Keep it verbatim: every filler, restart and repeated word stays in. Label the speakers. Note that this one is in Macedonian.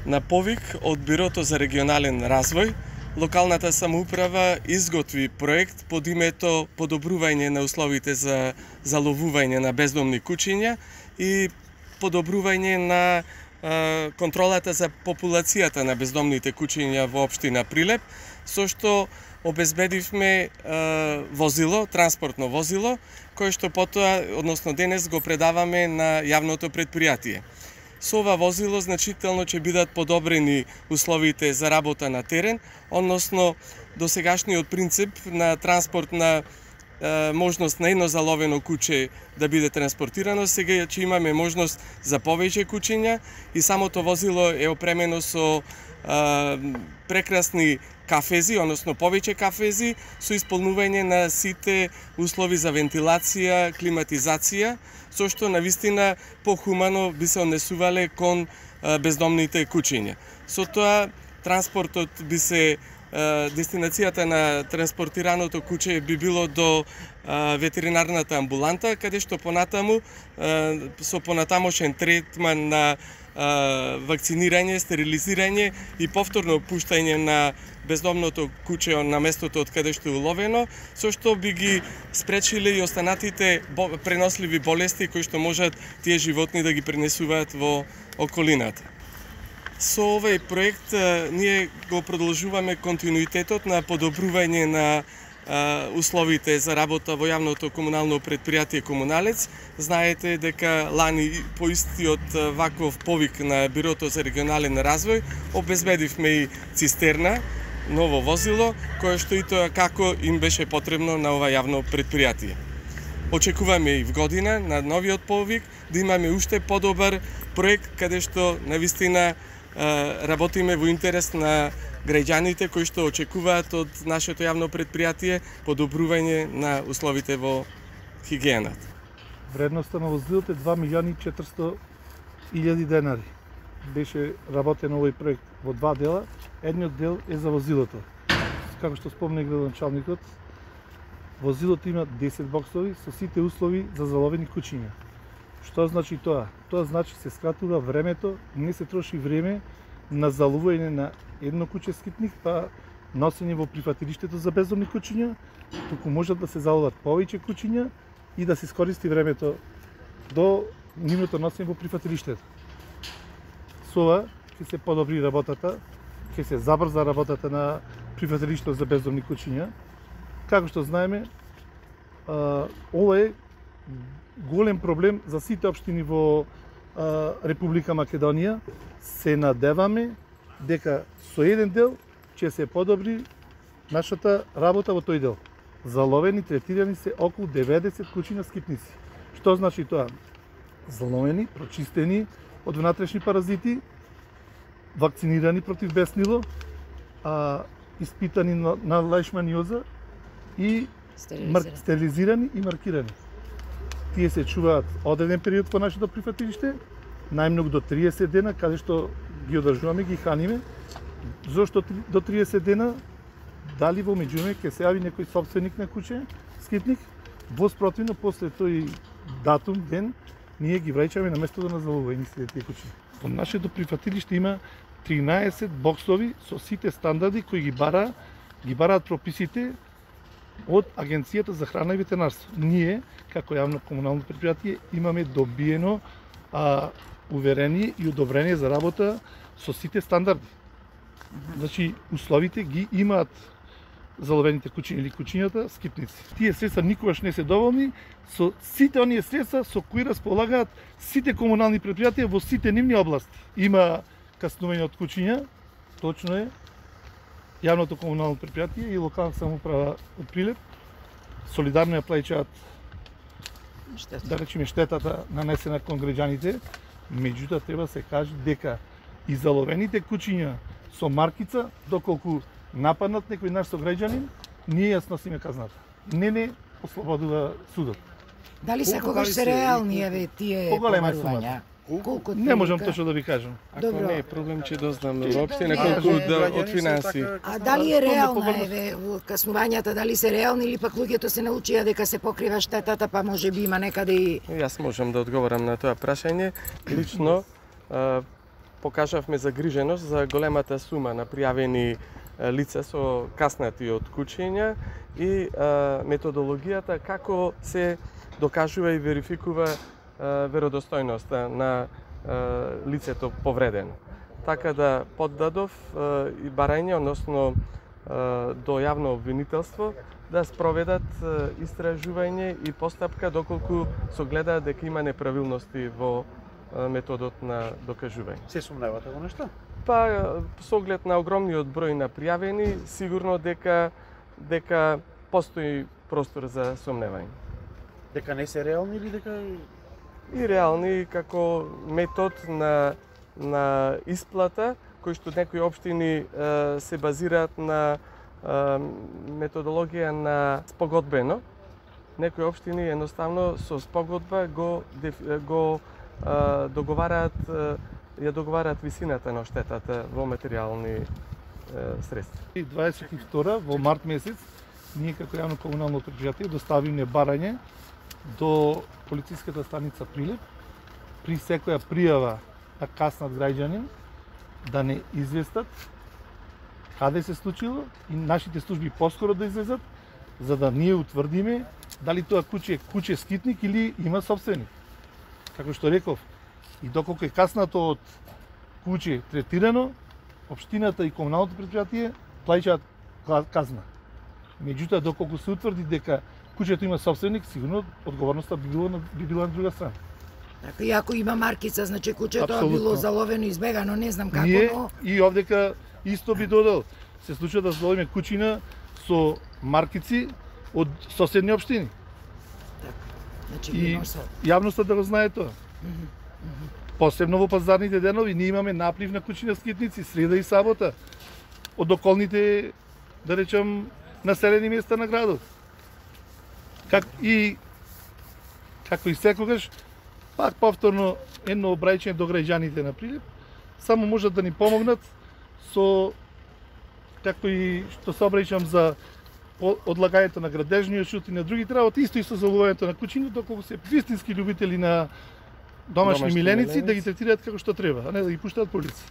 Speaker 1: На повик од Бирото за регионален развој, локалната самоуправа изготви проект под името подобрување на условите за заловување на бездомни кучиња и подобрување на е, контролата за популацијата на бездомните кучиња во општина Прилеп, со што обезбедивме е, возило, транспортно возило, кое што потоа, односно денес го предаваме на јавното предпријатие. Со ова возило значително ќе бидат подобрени условите за работа на терен, односно досегашниот принцип на транспорт на е, можност на едно заловено куче да биде транспортирано, сега ќе имаме можност за повеќе кучиња и самото возило е опремено со е, прекрасни кафези, односно повеќе кафези, со исполнување на сите услови за вентилација, климатизација, со што навистина похумано би се однесувале кон а, бездомните кучиња. Со тоа транспортот би се а, дестинацијата на транспортираното куче би било до а, ветеринарната амбуланта, каде што понатаму а, со понатамошен третман на а, вакцинирање, стерилизирање и повторно пуштање на бездомното куче на местото од каде што е уловено, со што би ги спречиле и останатите преносливи болести кои што можат тие животни да ги пренесуваат во околината. Со овој проект ние го продолжуваме континуитетот на подобрување на а, условите за работа во јавното комунално предпријатие Комуналец. Знаете дека лани по истиот ваков повик на Бирото за регионален развој обезбедивме и цистерна, ново возило, кое што и тоа како им беше потребно на ова јавно предпријатие. Очекуваме и в година на новиот повик да имаме уште подобар проект каде што навистина работиме во интерес на граѓаните кои што очекуваат од нашето јавно предпријатие подобрување на условите во хигиената.
Speaker 2: Вредноста на возилото е два милиони и четиристотини илјади денари. Беше работен овој проект во два дела. Едниот дел е за возилото. Како што спомна градоначалникот, возилото има десет боксови со сите услови за заловени кучиња. Што значи тоа? Тоа значи се скратува времето, не се троши време на заловување на едно куче скитник, па носење во прифатилиштето за бездомни кучиња, туку можат да се заловат повеќе кучиња и да се искористи времето до нивното носење во прифатилиштето. Со ова ќе се подобри работата, ќе се забрза работата на прифатилиштето за бездомни кучиња. Како што знаеме, ова е голем проблем за сите општини во Република Македонија. Се надеваме дека со еден дел ќе се подобри нашата работа во тој дел. Заловени, третирани се околу деветдесет кучиња скитници. Што значи тоа? Заловени, прочистени од внатрешни паразити, вакцинирани против беснило, а, испитани на, на лаишманиоза и
Speaker 3: стерилизирани.
Speaker 2: стерилизирани и маркирани. Тие се чуваат одреден период во нашето прифатилиште, најмногу до триесет дена, каде што ги одржуваме, ги храниме. Зошто до триесет дена? Дали во меѓувреме ќе се јави некој собственик на куче, скитник, во спротивно после тој датум, ден, ние ги враќаме на местото на заловување сите тие кучи. Во нашето прифатилиште има тринаесет боксови со сите стандарди кои ги бара, ги бараат прописите од Агенцијата за храна и ветеринарство. Ние, како јавно комунално предпријатие, имаме добиено а, уверение и одобрение за работа со сите стандарди. Значи, условите ги имаат заловените кучиња или кучињата скитници. Тие средства никогаш не се доволни со сите оние средства со кои располагаат сите комунални предпријатија во сите нивни области. Има каснување од кучиња, точно е, јавното комунално предпријатие и локална самоуправа од Прилеп солидарно ја плаќаат да речеме штетата нанесена кон граѓаните, меѓутоа треба се каже дека и заловените кучиња со маркица, доколку нападнат некој наш сограѓанин, ние ја сносиме казната. Не не ослободува судот.
Speaker 3: Дали секогаш се реални еве тие помарувања? Колку
Speaker 2: не можам точно да ви кажам.
Speaker 1: Ако Добро. Не е проблем ќе дознаме воопште колку да од финанси.
Speaker 3: А дали е реална еве каснувањата, дали се реални или пак луѓето се научија дека се покрива штетата, па може би има некаде и
Speaker 1: Јас можам да одговорам на тоа прашање. Лично покажавме загриженост за големата сума на пријавени лица со каснати од кучења и а, методологијата како се докажува и верификува а, веродостојноста на а, лицето повредено. Така да поддадов а, и барање, односно а, до јавно обвинителство, да спроведат а, истражување и постапка доколку согледаат дека има неправилности во а, методот на докажување.
Speaker 4: Се сумневате во нешто?
Speaker 1: Па, со оглед на огромниот број на пријавени, сигурно дека дека постои простор за сомневање.
Speaker 4: Дека не се реални или дека
Speaker 1: И реални како метод на на исплата, кој што некои општини е, се базираат на е, методологија на спогодбено. Некои општини едноставно со спогодба го го е, договараат е, ја договараат висината на штетата во материјални е, средства.
Speaker 2: И дваесет и втора во март месец ние како јавно комунално претпријатие доставивме барање до полициската станица Прилеп при секоја пријава на каснат граѓанин да не известат каде се случило и нашите служби поскоро да излезат за да ние утврдиме дали тоа куќе е куќе скитник или има собственик. Како што реков, и доколку е каснато од куќе третирано, општината и комуналното претпријатие плаќаат казна. Меѓутоа, доколку се утврди дека куќето има собственик, сигурно одговорноста би била на, би била на друга страна.
Speaker 3: Така, и ако има маркица, значи куќето
Speaker 2: Апсолутно.
Speaker 3: било заловено, избегано, не знам како,
Speaker 2: Ние
Speaker 3: но...
Speaker 2: и овдека исто би додал. Се случува да зловиме куќина со маркици од соседни општини.
Speaker 3: Значи,
Speaker 2: И
Speaker 3: има со...
Speaker 2: јавноста да го знае тоа. Посебно во пазарните денови ние имаме наплив на куќина скитници среда и сабота од околните, да речем, населени места на градот. Как и како и секогаш, пак повторно едно обраќање до граѓаните на Прилеп, само можат да ни помогнат со како и што се обраќам за одлагањето на градежниот шут и на другите работи, исто и со заловувањето на кучиња, доколку се вистински љубители на домашни,
Speaker 1: Домашни
Speaker 2: миленици,
Speaker 1: миленици.
Speaker 2: да ги третираат како што треба, а не да ги пуштаат по улици.